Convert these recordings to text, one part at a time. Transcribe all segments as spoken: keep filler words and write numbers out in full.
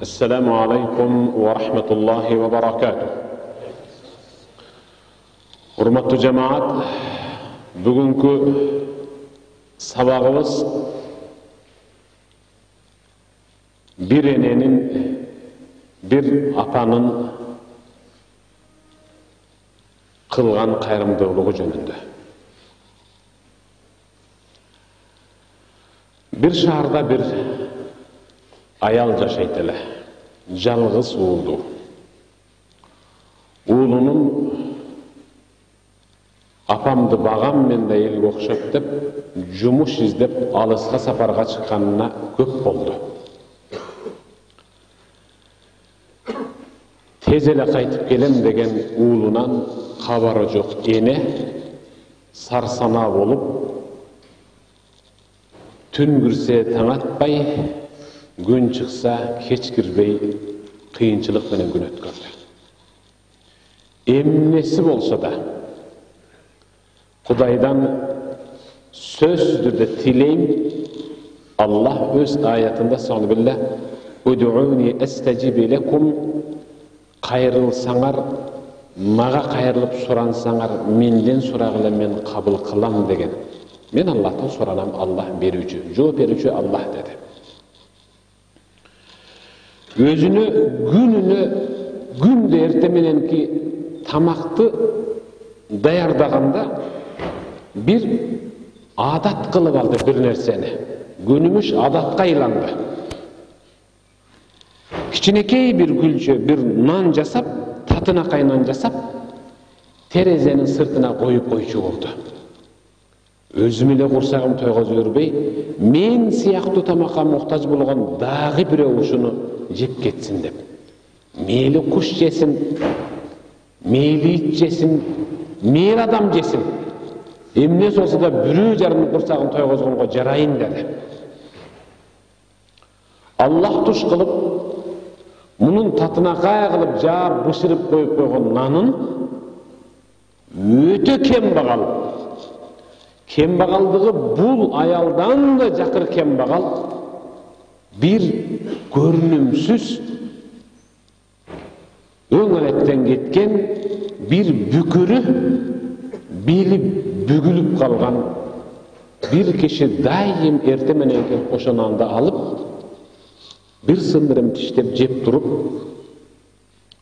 Assalamu alaikum wa rahmatullahi wa barakatuh. Hurmatlı cemaat, bugünkü sabagımız bir enenin, bir apanın kılgan kayrımdılığı jönündө. Bir şaharda bir ayal jaşayt ele. Жалгыз уулу. Уулунун апамды багам мен да элге окшоп деп жумуш издеп алыска сапарга чыкканына көп болду. Тез эле кайтып келем деген уулунан кабары жок эне сарсанаа болуп түн кирсе таң атпай, gün çıksa keç kirбей kıyınçılık менен gün ötkürdü. Emnesi bolsa da Kudaydan sözdür de tileyim, Allah öz ayetinde sonu billah Udu'uni estecibi lekum, kayırılsaňar, maga kayırılıp soransaňar, menden soragıla men kabul kılam degen. Men Allah'tan soranam, Allah berücü, жооп berücü Allah dedi. Özünü, gününü, günde ertemenenki tamaktı dayardaganda bir adat kılıp aldı bir nerseni. Günümüz adatka aylandı. Kiçinekey bir gülçe, bir nan jasap, tatına kaynan jasap, terezenin sırtına koyup koyucu oldu. Özüm ile kursağım toygoz örбей, men siyaktı tamaka muhtaç bulgan dağı bir uşunu jep ketsin dep. Meyli kuş jesin, meyli it jesin, meyli adam jesin. Emnes olsa da bürü jarını kursağın toygozgongo jarayın dedi. Allah tuş kılıp, munun tatına kaya kılıp jaap bışırıp koyup koygon nanın öte kembagal. Kembagaldığı bul ayaldan da jakır kembagal. Bir görünümsüz öňeletten ketken bir bükürü bilip bügülüp kalgan bir kişi daim ertemenenki koşananda alıp bir sındırım tiştep jep turup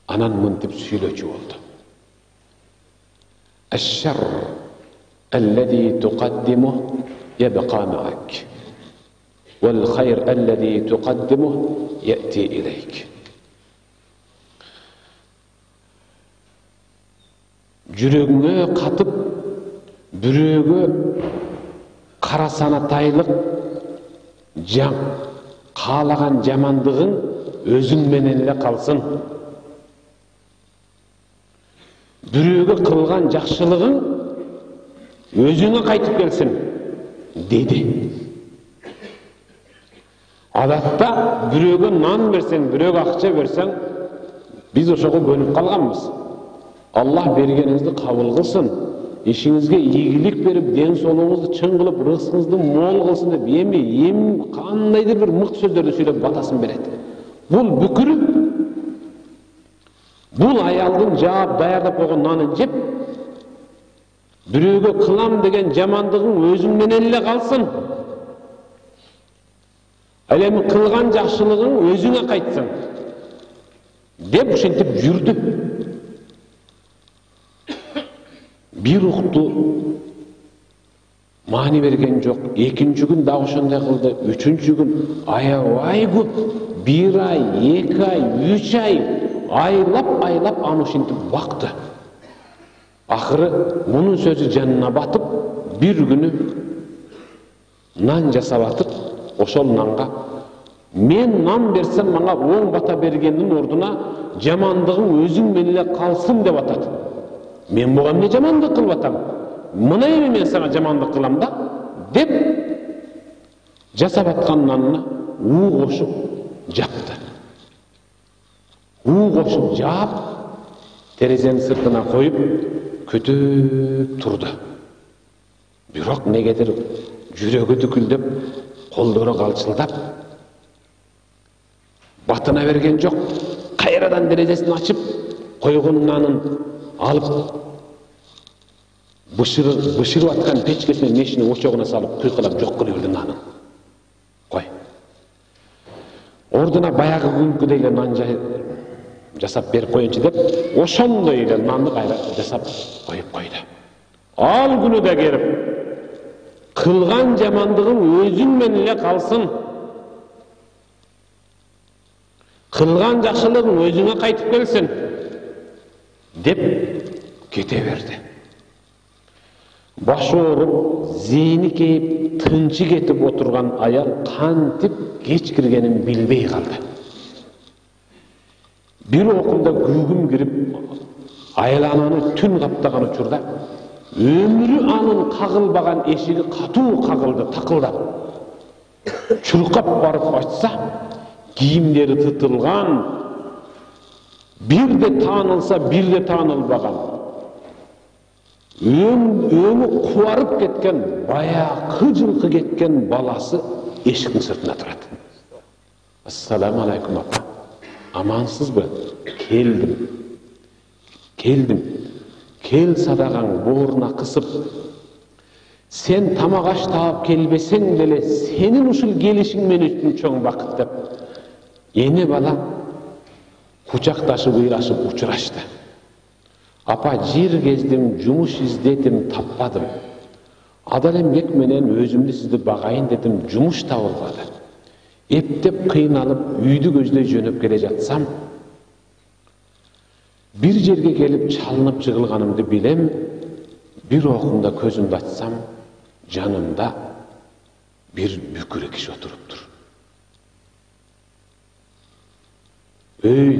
anan mıntip süйлöчү oldu. Eşşer ellezî tuqaddimuh yebqa ma'ak. والخير الذي تقدمه يأتي إليك. Жүрөгүңө катып, бүрөгө карасанатайлык жан каалаган жамандыгың өзүң менен эле калсын. Бүрөгө кылган жакшылыгың өзүңө кайтып келсин деди. Adatta büröge nan bersen, büröge akça bersen, biz oşoga könüp kalganmız. Allah bergeniňizdi kabul kılsın, işiňizge iyilik berip, den soluğuňuzdu çyň kılıp, rızkыңызды mol kılsın dep, emi em kandaydır bir mıkt sözlerdi söylep batasın berет. Bul bükürü, bul ayaldın jaap dayardap koygon nanın jep, büröge kılam degen jamandygyň özüň menen ele kalsın. Elemi kılgan jakşılığın özüne kaytsın. Dep uşentip yürüdü. Bir uktu mani bergen jok. Ekinci gün da ошондой kıldı. Üçüncü gün ayabay көп. Bir ay, iki ay, üç ay aylap aylap аны uşentip baktı. Ahırı bunun sözü canına batıp bir günü nan jasap atıp ошол нанга мен нан берсем мага оң бата бергендин ордуна жамандыгың өзүң менен эле калсын деп атат. Мен буга эмне жамандык кылып атам? Мына эми мен сага жамандык кылам да деп жасап аткан нанына уу кошуп жапты. уу кошуп жаап терезенин сыртына коюп күтүп турду. Бирок негедир жүрөгү дүкүлдөп, колдору калчылдап, Батына берген жок. Кайрадан терезесин ачып, койгон нанын алып бышырып бышырып аткан печкесине мешинин очогуна салып кыйкылап жок кылып берди нанын. Кой. Ордуна баягы күнкүдөй эле нан жасап берип коеюнчу деп, ошондой эле нанды кайра жасап коюп койду. Ал күнү да келип, кылган жамандыгың өзүң менен эле калсын. Кылган жакшылыгың өзүңө кайтып келсин деп кете берди. Башы ооруп, зейни кейип, тынчы кетип отурган аял кантип кеч киргенин билбей калды. Бир окумда күйгүм кирип, айлананы түн каптаган учурда өмүрү анын кагылбаган эшиги катуу кагылды, такылдап. Чуркап барып ачса, кийимдери тытылган, бирде таанылса, бирде таанылбаган, өңү кубарып кеткен, баягы жылкы кеткен баласы эшиктин сыртына турат. Ассаламу алейкум апа. Амансызбы? Келдим. Келдим. Кел садагаң бооруна кысып. Сен тамак аш таап келбесең деле, сенин ушул келишиң мен үчүн чоң бакыт деп. Эне бала кучакташып, ыйрашып учурашты. Апа, жер кездим, жумуш издедим, таппадым. Адал эмгек менен өзүмдү сизди багайын дедим, жумуш табылбады. Эптеп кыйналып, үйдү көздөй жөнөп келе жатсам, бир жерге келип чалынып жыгылганымды билем. Бир окумда көзүмдү ачсам, жанымда бир бүкүрө киши отуруптур. Өй,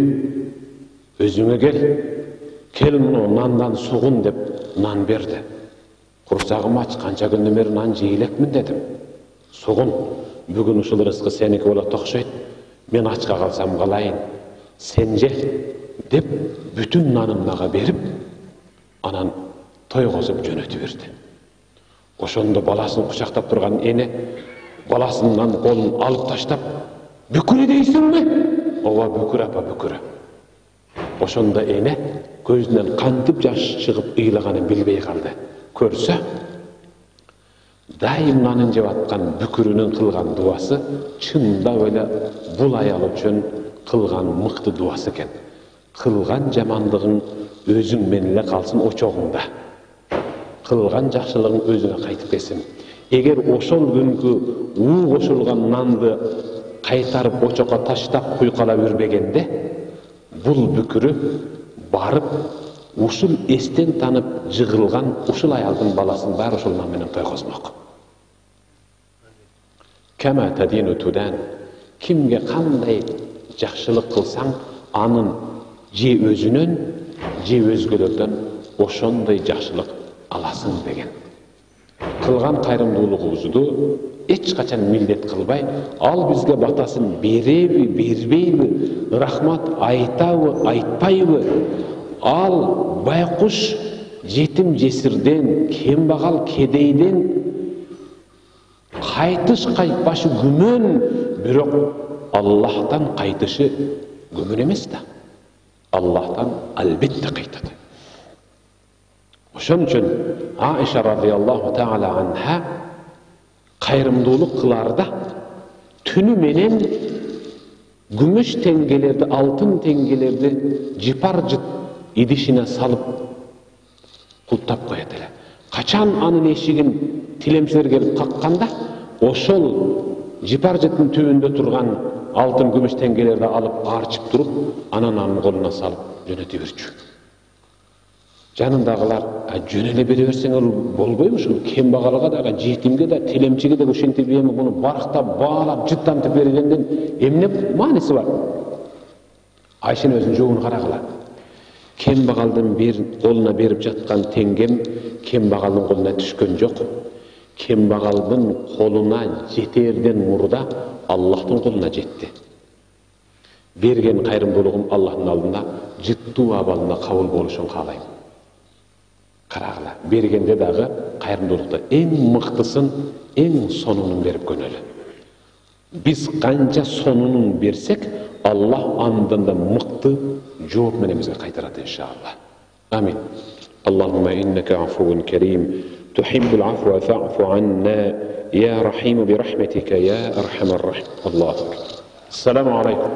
өзүңө кел. Кел муну нандан сугун деп нан берди. Курсагым ач, канча күндөн бери нан жей элекмин дедим. Сугун, бүгүн ушул рызкы сеники болот окшойт. Мен ачка калсам калайын. Сен же деп бүтүн нанын мага берип, анан тойгозуп жөнөтүп берди. Ошондо баласын кучактап турган эне баласынын колун алып таштап, "Бүкүрө дейсиңби?" "Ооба, бүкүрө апа, бүкүрө." Ошондо эне көзүнөн кантип жаш чыгып ыйлаганын билбей калды. Көрсө, дайым нанын жеп аткан бүкүрүнүн кылган дуасы чындап эле бул аял үчүн кылган мыкты дуасы экен. Кылган жамандыгың өзүң менен эле калсын очогуңда. Кылган жакшылыгың өзүңө кайтып келсин. Эгер ошол күнкү уу кошулган нанды кайтарып очокко таштап куйкалап үрбегенде, бул бүкүрү барып ушул эстен танып жыгылган ушул аялдын баласын баары ушул нан менен тойгозмок. Кама тадину тудан. Кимге кандай жакшылык кылсаң, анын же өзүнөн, же өзгөлөрдөн ошондой жакшылык аласың деген. Кылган кайрымдуулугубузду эч качан милдет кылбай, ал бизге батасын береби, бербейби, рахмат айтабы, айтпайбы, ал байкуш жетим жесирден, кембагал кедейден кайтыш кайтпашы күмөн, бирок Аллахтан кайтышы күмөн эмес да. Аллахтан албетте кайтат. Ошон үчүн Аиша радиаллаху таала анха кайрымдуулук кыларда түнү менен күмүш теңгелерди, алтын теңгелерди жипар жыт идишине салып култап коет эле. Качан анын эшигин тилемчилер келип какканда, ошол жипар жыттын түбүндө турган алтын күмүш теңгелерди алып арчып туруп, анан анын колуна салып жөнөтүп берчү. Жанындагылар, жөн эле бере берсеңер болбойбу ушул кембагалга дагы, жетимге да, тилемчиге да ушинтип эми муну барктап, баалап, жыттантып бергенден эмне мааниси бар? Айшанын өзүнүн жообун карагыла. Кембагалдын бир колуна берип жаткан теңгем кембагалдын колуна түшкөн жок. Кембагалдын колуна жетерден мурда Аллахтын колуна жетти. Берген кайрымдуулугум Аллахтын алдында жыттуу абалында кабыл болушун каалайм. Карагыла, бергенде дагы кайрымдуулукта эң мыктысын, эң сонунун берип көнөлү. Biz kanca sonunun bersek, Allah andan da mıktı cevap menemize kaytarat inşallah. Amin. Allahümme inneke afuvun kerim, tuhibbul afwa fa'fu anna, ya rahimu bi rahmetike ya erhamer rahim. Allahu Ekber. Selamun aleyküm.